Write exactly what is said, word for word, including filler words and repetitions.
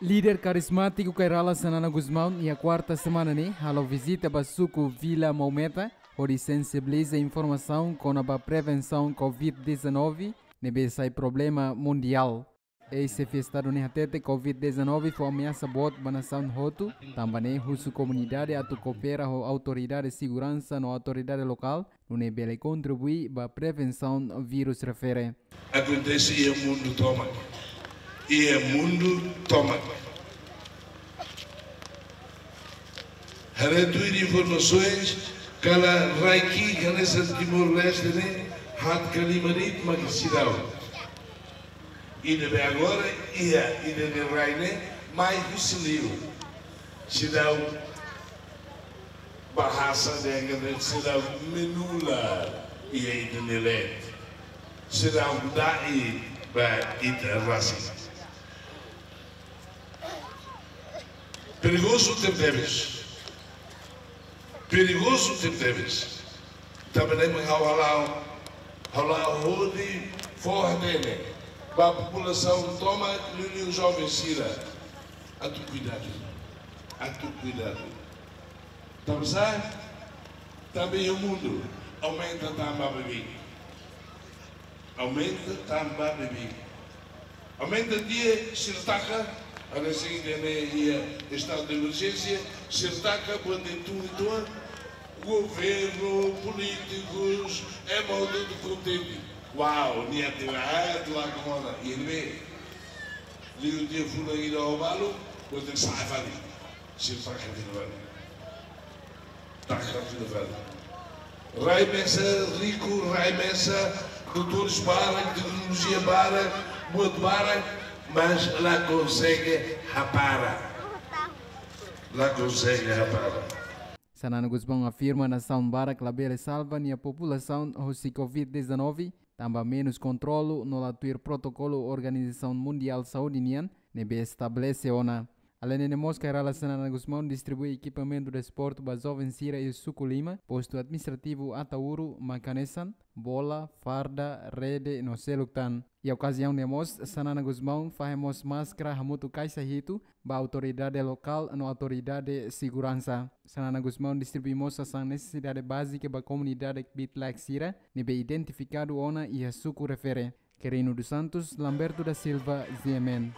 Líder karizmátiku Kay Rala Xanana Gusmão iha kuarta semana ne'e halo vizita ba suku Vila Maumeta, hodi sensibiliza informasaun kona-ba prevensaun covid dezanove, ne'ebé sai problema mundiál. Eis-xefe Estadu ne'e hatete covid dezanove fó ameasa boot ba nasaun hotu, tanba ne'e husu komunidade atu koopera ho autoridade seguransa no autoridade lokál, nune'e bele kontribui ba prevensaun vírus refere. Akontese iha mundu tomak. Iha mundu tomak. Haree tuir informasaun, kala rai ki'ik hanesan Timor-Leste ne'e, haat ka lima de'it mak seidauk. I ne'ebé agora iha ida-ne'e rai ne'e mai husi liur. Seidauk bahasa dengan seidauk menula iha ida-ne'e leet. Seidauk da'et ba ita rasik. Perigozu tebetebes. Perigozu tebetebes. Tanba ne'e mak ha'u hala'o, ha'u hala'o hodi fó hatene ba populasaun tomak, liuliu joven sira. Atu kuidadu. Atu kuidadu. Tanba sá? Tanba iha mundu aumenta tan ba bebeik. Aumenta tan ba bebeik. Aumenta tiha sira taka, hanesan ida-ne'e iha estadu de emerjénsia, sira taka buat ne'e tun uitoan, governu, polítikus, ema hotu kontente. Uau, nia tira aat, la kona, iha ne'ebé. Liu tiha fulan ida ho balu, buat ne'e sa'e fali. Sira taka fila fali. Taka fila fali. Rai mesak, riku, rai mesak, doutór barak, teknolojia barak, buat barak, mas la konsege hapara. La konsege hapara. Xanana Gusmão afirma nasaun barak labele salva nia populasaun husi covid dezanove, tanba menus kontrolu no la tuir protokolu Organizasaun Mundiál Saúde nian, ne'ebé estabelese ona. Aleinde ne'e mós Kay Rala Xanana Gusmão distribui ekipamentu desportu ba joven sira iha suku lima, postu administrativu Ataúru, mak hanesan bola, farda, rede no seluk tan. Iha okaziaun ne'e mós, Xanana Gusmão fahe mós máskara hamutuk kaixa hitu ba autoridade lokál no autoridade seguransa. Xanana Gusmão distribui mós sasán nesesidade bázika ba komunidade kbiit-laek sira ne'ebé identifikadu ona iha suku refere. Querino dos Santos, Lamberto da Silva, G M N.